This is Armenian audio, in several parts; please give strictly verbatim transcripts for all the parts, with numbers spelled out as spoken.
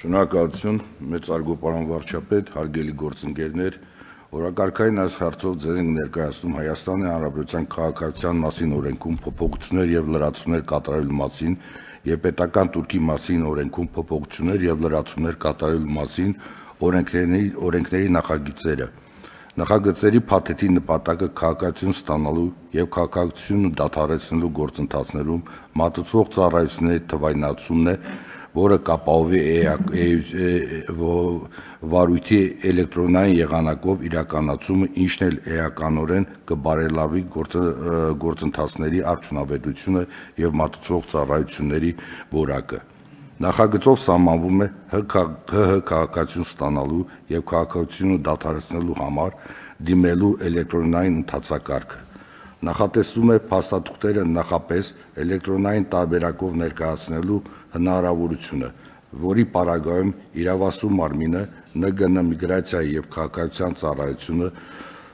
Շնորհակալություն, մեծարգո պարոն վարչապետ, հարգելի գործընկերներ, օրակարգային այս հարցով ձեզ ենք ներկայացնում Հայաստանի Հանրապետության քաղաքացիության մասին օրենքում փոփոխություններ եւ լրացումներ կատարելու մասին եւ պետական տուրքի մասին օրենքում փոփոխություններ եւ լրացումներ կատարելու մասին օրենքների օրենքների նախագծերը։ Նախագծերի փաթեթի նպատակը քաղաքացիություն ստանալու եւ քաղաքացիությունը դադարեցնելու գործընթացներում մատուցվող ծառայությունների թվայնացումն է, որը կապահովի վարույթի էլեկտրոնային եղանակով իրականացումը, ինչն էլ էականորեն կբարելավի գործընթացների արդյունավետությունը եւ մատուցվող ծառայությունների որակը։ Նախագծով սահմանվում է ՀՀ քաղաքացիություն ստանալու եւ քաղաքացիությունը դադարեցնելու համար դիմելու էլեկտրոնային ընթացակարգը։ Նախատեսվում է փաստաթղթերը նախապես էլեկտրոնային տարբերակով ներկայացնելու հնարավորությունը, որի պարագայում իրավասու մարմինը Ն Գ Ն միգրացիայի եւ քաղաքացիության ծառայությունը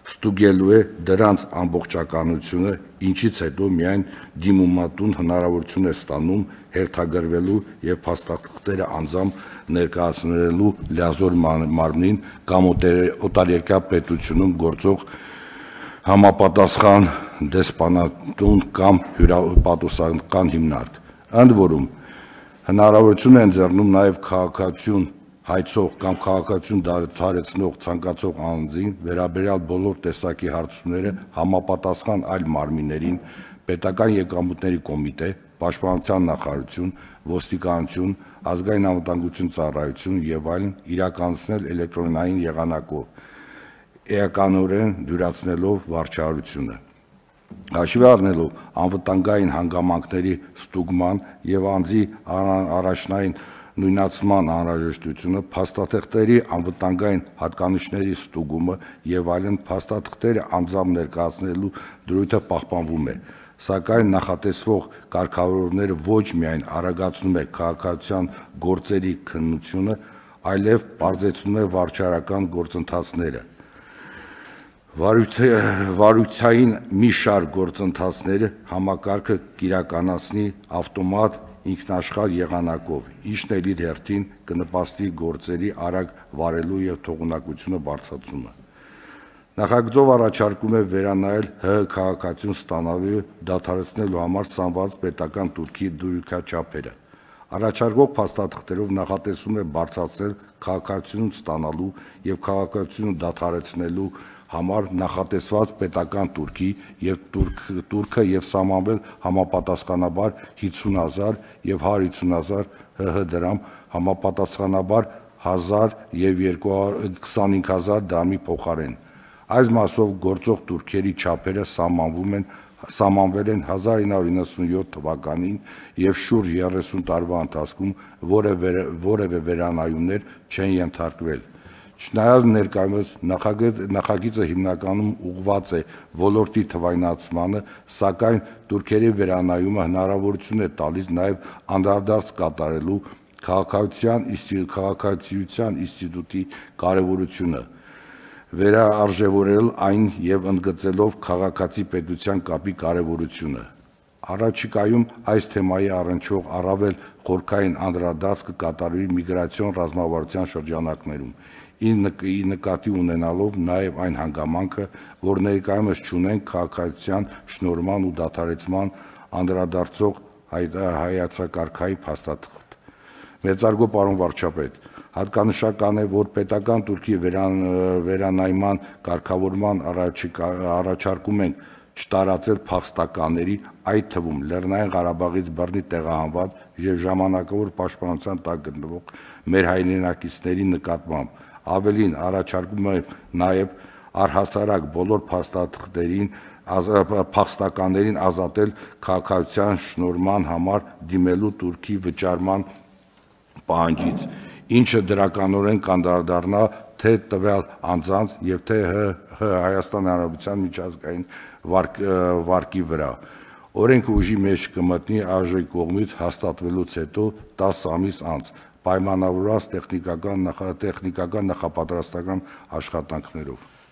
ստուգելու է դրանց ամբողջականությունը, ինչից հետո միայն դիմումատուն հնարավորություն է ստանում հերթագրվելու եւ փաստաթղթերը անձամբ ներկայացնելու լիազոր մարմնին կամ օտարերկրյա պետությունում գործող համապատասխան դեսպանատուն կամ հյուպատոսական հիմնարկ։ Ընդ որում հնարավորություն է ընձեռնում նաեւ քաղաքացիություն հայցող կամ քաղաքացիություն դադարեցնող ցանկացող անձին վերաբերյալ բոլոր տեսակի հարցումները համապատասխան այլ մարմիններին, պետական եկամուտների կոմիտե, պաշտպանության նախարարություն, ոստիկանություն, ազգային անվտանգություն ծառայություն եւ այլն իրականացնել էլեկտրոնային եղանակով, էականորեն դյուրացնելով վարչահարությունը։ Հաշվի առնելով անվտանգային հանգամանքների ստուգման եւ անձի առաջնային նույնացման անհրաժեշտությունը, փաստաթղթերի անվտանգային հատկանիշների ստուգումը եւ այլն, փաստաթղթերը անձամբ ներկայացնելու դրույթը պահպանվում է, սակայն նախատեսվող կարգավորումները ոչ միայն արագացնում է քաղաքացիական գործերի քննությունը, այլև պարզեցնում է վարչարական գործընթացները։ Վարույթային մի շարք գործընթացները համակարգը կիրականացնի ավտոմատ ինքնաշխատ եղանակով, ինչն էլ իր հերթին կնպաստի գործերի արագ վարելու եւ թողունակությունը բարձրացումը։ Նախագծով առաջարկում է վերանայել ՀՀ քաղաքացիություն ստանալու դադարեցնելու համար սահմանված պետական տուրքի դյուրքաչափերը։ Առաջարկող փաստաթղթերով նախատեսվում է բարձրացնել քաղաքացիություն ստանալու եւ քաղաքացիությունը դադարեցնելու համար նախատեսված պետական տուրքի եւ տուրքը եւ սահմանվել համապատասխանաբար հիսուն հազար եւ հարյուր հիսուն հազար ՀՀ դրամ, համապատասխանաբար հազար եւ քսանհինգ հազար դրամի փոխարեն։ Այս մասով գործող տուրքերի չափերը սահմանվում են սահմանվել են հազար ինը հարյուր իննսունյոթ թվականին եւ շուրջ երեսուն տարվա ընթացքում որևէ վերանայումներ չեն ենթարկվել։ Չնայած ներկայումս նախագիծը հիմնականում ուղղված է ոլորտի թվայնացմանը, սակայն տուրքերի վերանայումը հնարավորություն է տալիս նաեւ անդրադարձ կատարելու քաղաքացիության ինստիտուտի կարեւորությունը, վերարժևորել այն եւ ընդգծելով քաղաքացի պետության կապի կարեւորությունը։ Առաջիկայում այս թեմայի առնչվող առավել խորքային անդրադարձ կկատարվի միգրացիոն ռազմավարության շրջանակներում, ի նկատի ունենալով նաեւ այն հանգամանքը, որ ներկայումս չունեն քաղաքացիության շնորհման ու դադարեցման անդրադարձող հայեցակարգային փաստաթղթ։ Մեծարգո պարոն վարչապետ, հատկանշական է, որ պետական տուրքի վերանայման կարգավորման առաջարկում ենք չտարածել փախստականների, այդ թվում Լեռնային Ղարաբաղից բռնի տեղահանված եւ ժամանակավոր պաշտպանության տակ գտնվող մեր հայրենակիցների նկատմամբ։ Ավելին, առաջարկում է նաեւ առհասարակ բոլոր փաստաթղթերին փախստականներին ազատել քաղաքացիության շնորհման համար դիմելու տուրքի վճարման պահանջից, ինչը դրականորեն կանդրադառնա թե տվյալ անձանց եւ թե ՀՀ Հայաստանի Հանրապետության միջազգային վարկի վրա։ Օրենքը ուժի մեջ կմտնի ԱԺ կողմից հաստատվելուց հետո տասը ամիս անց, պայմանավորված տեխնիկական նախապատրաստական աշխատանքներով։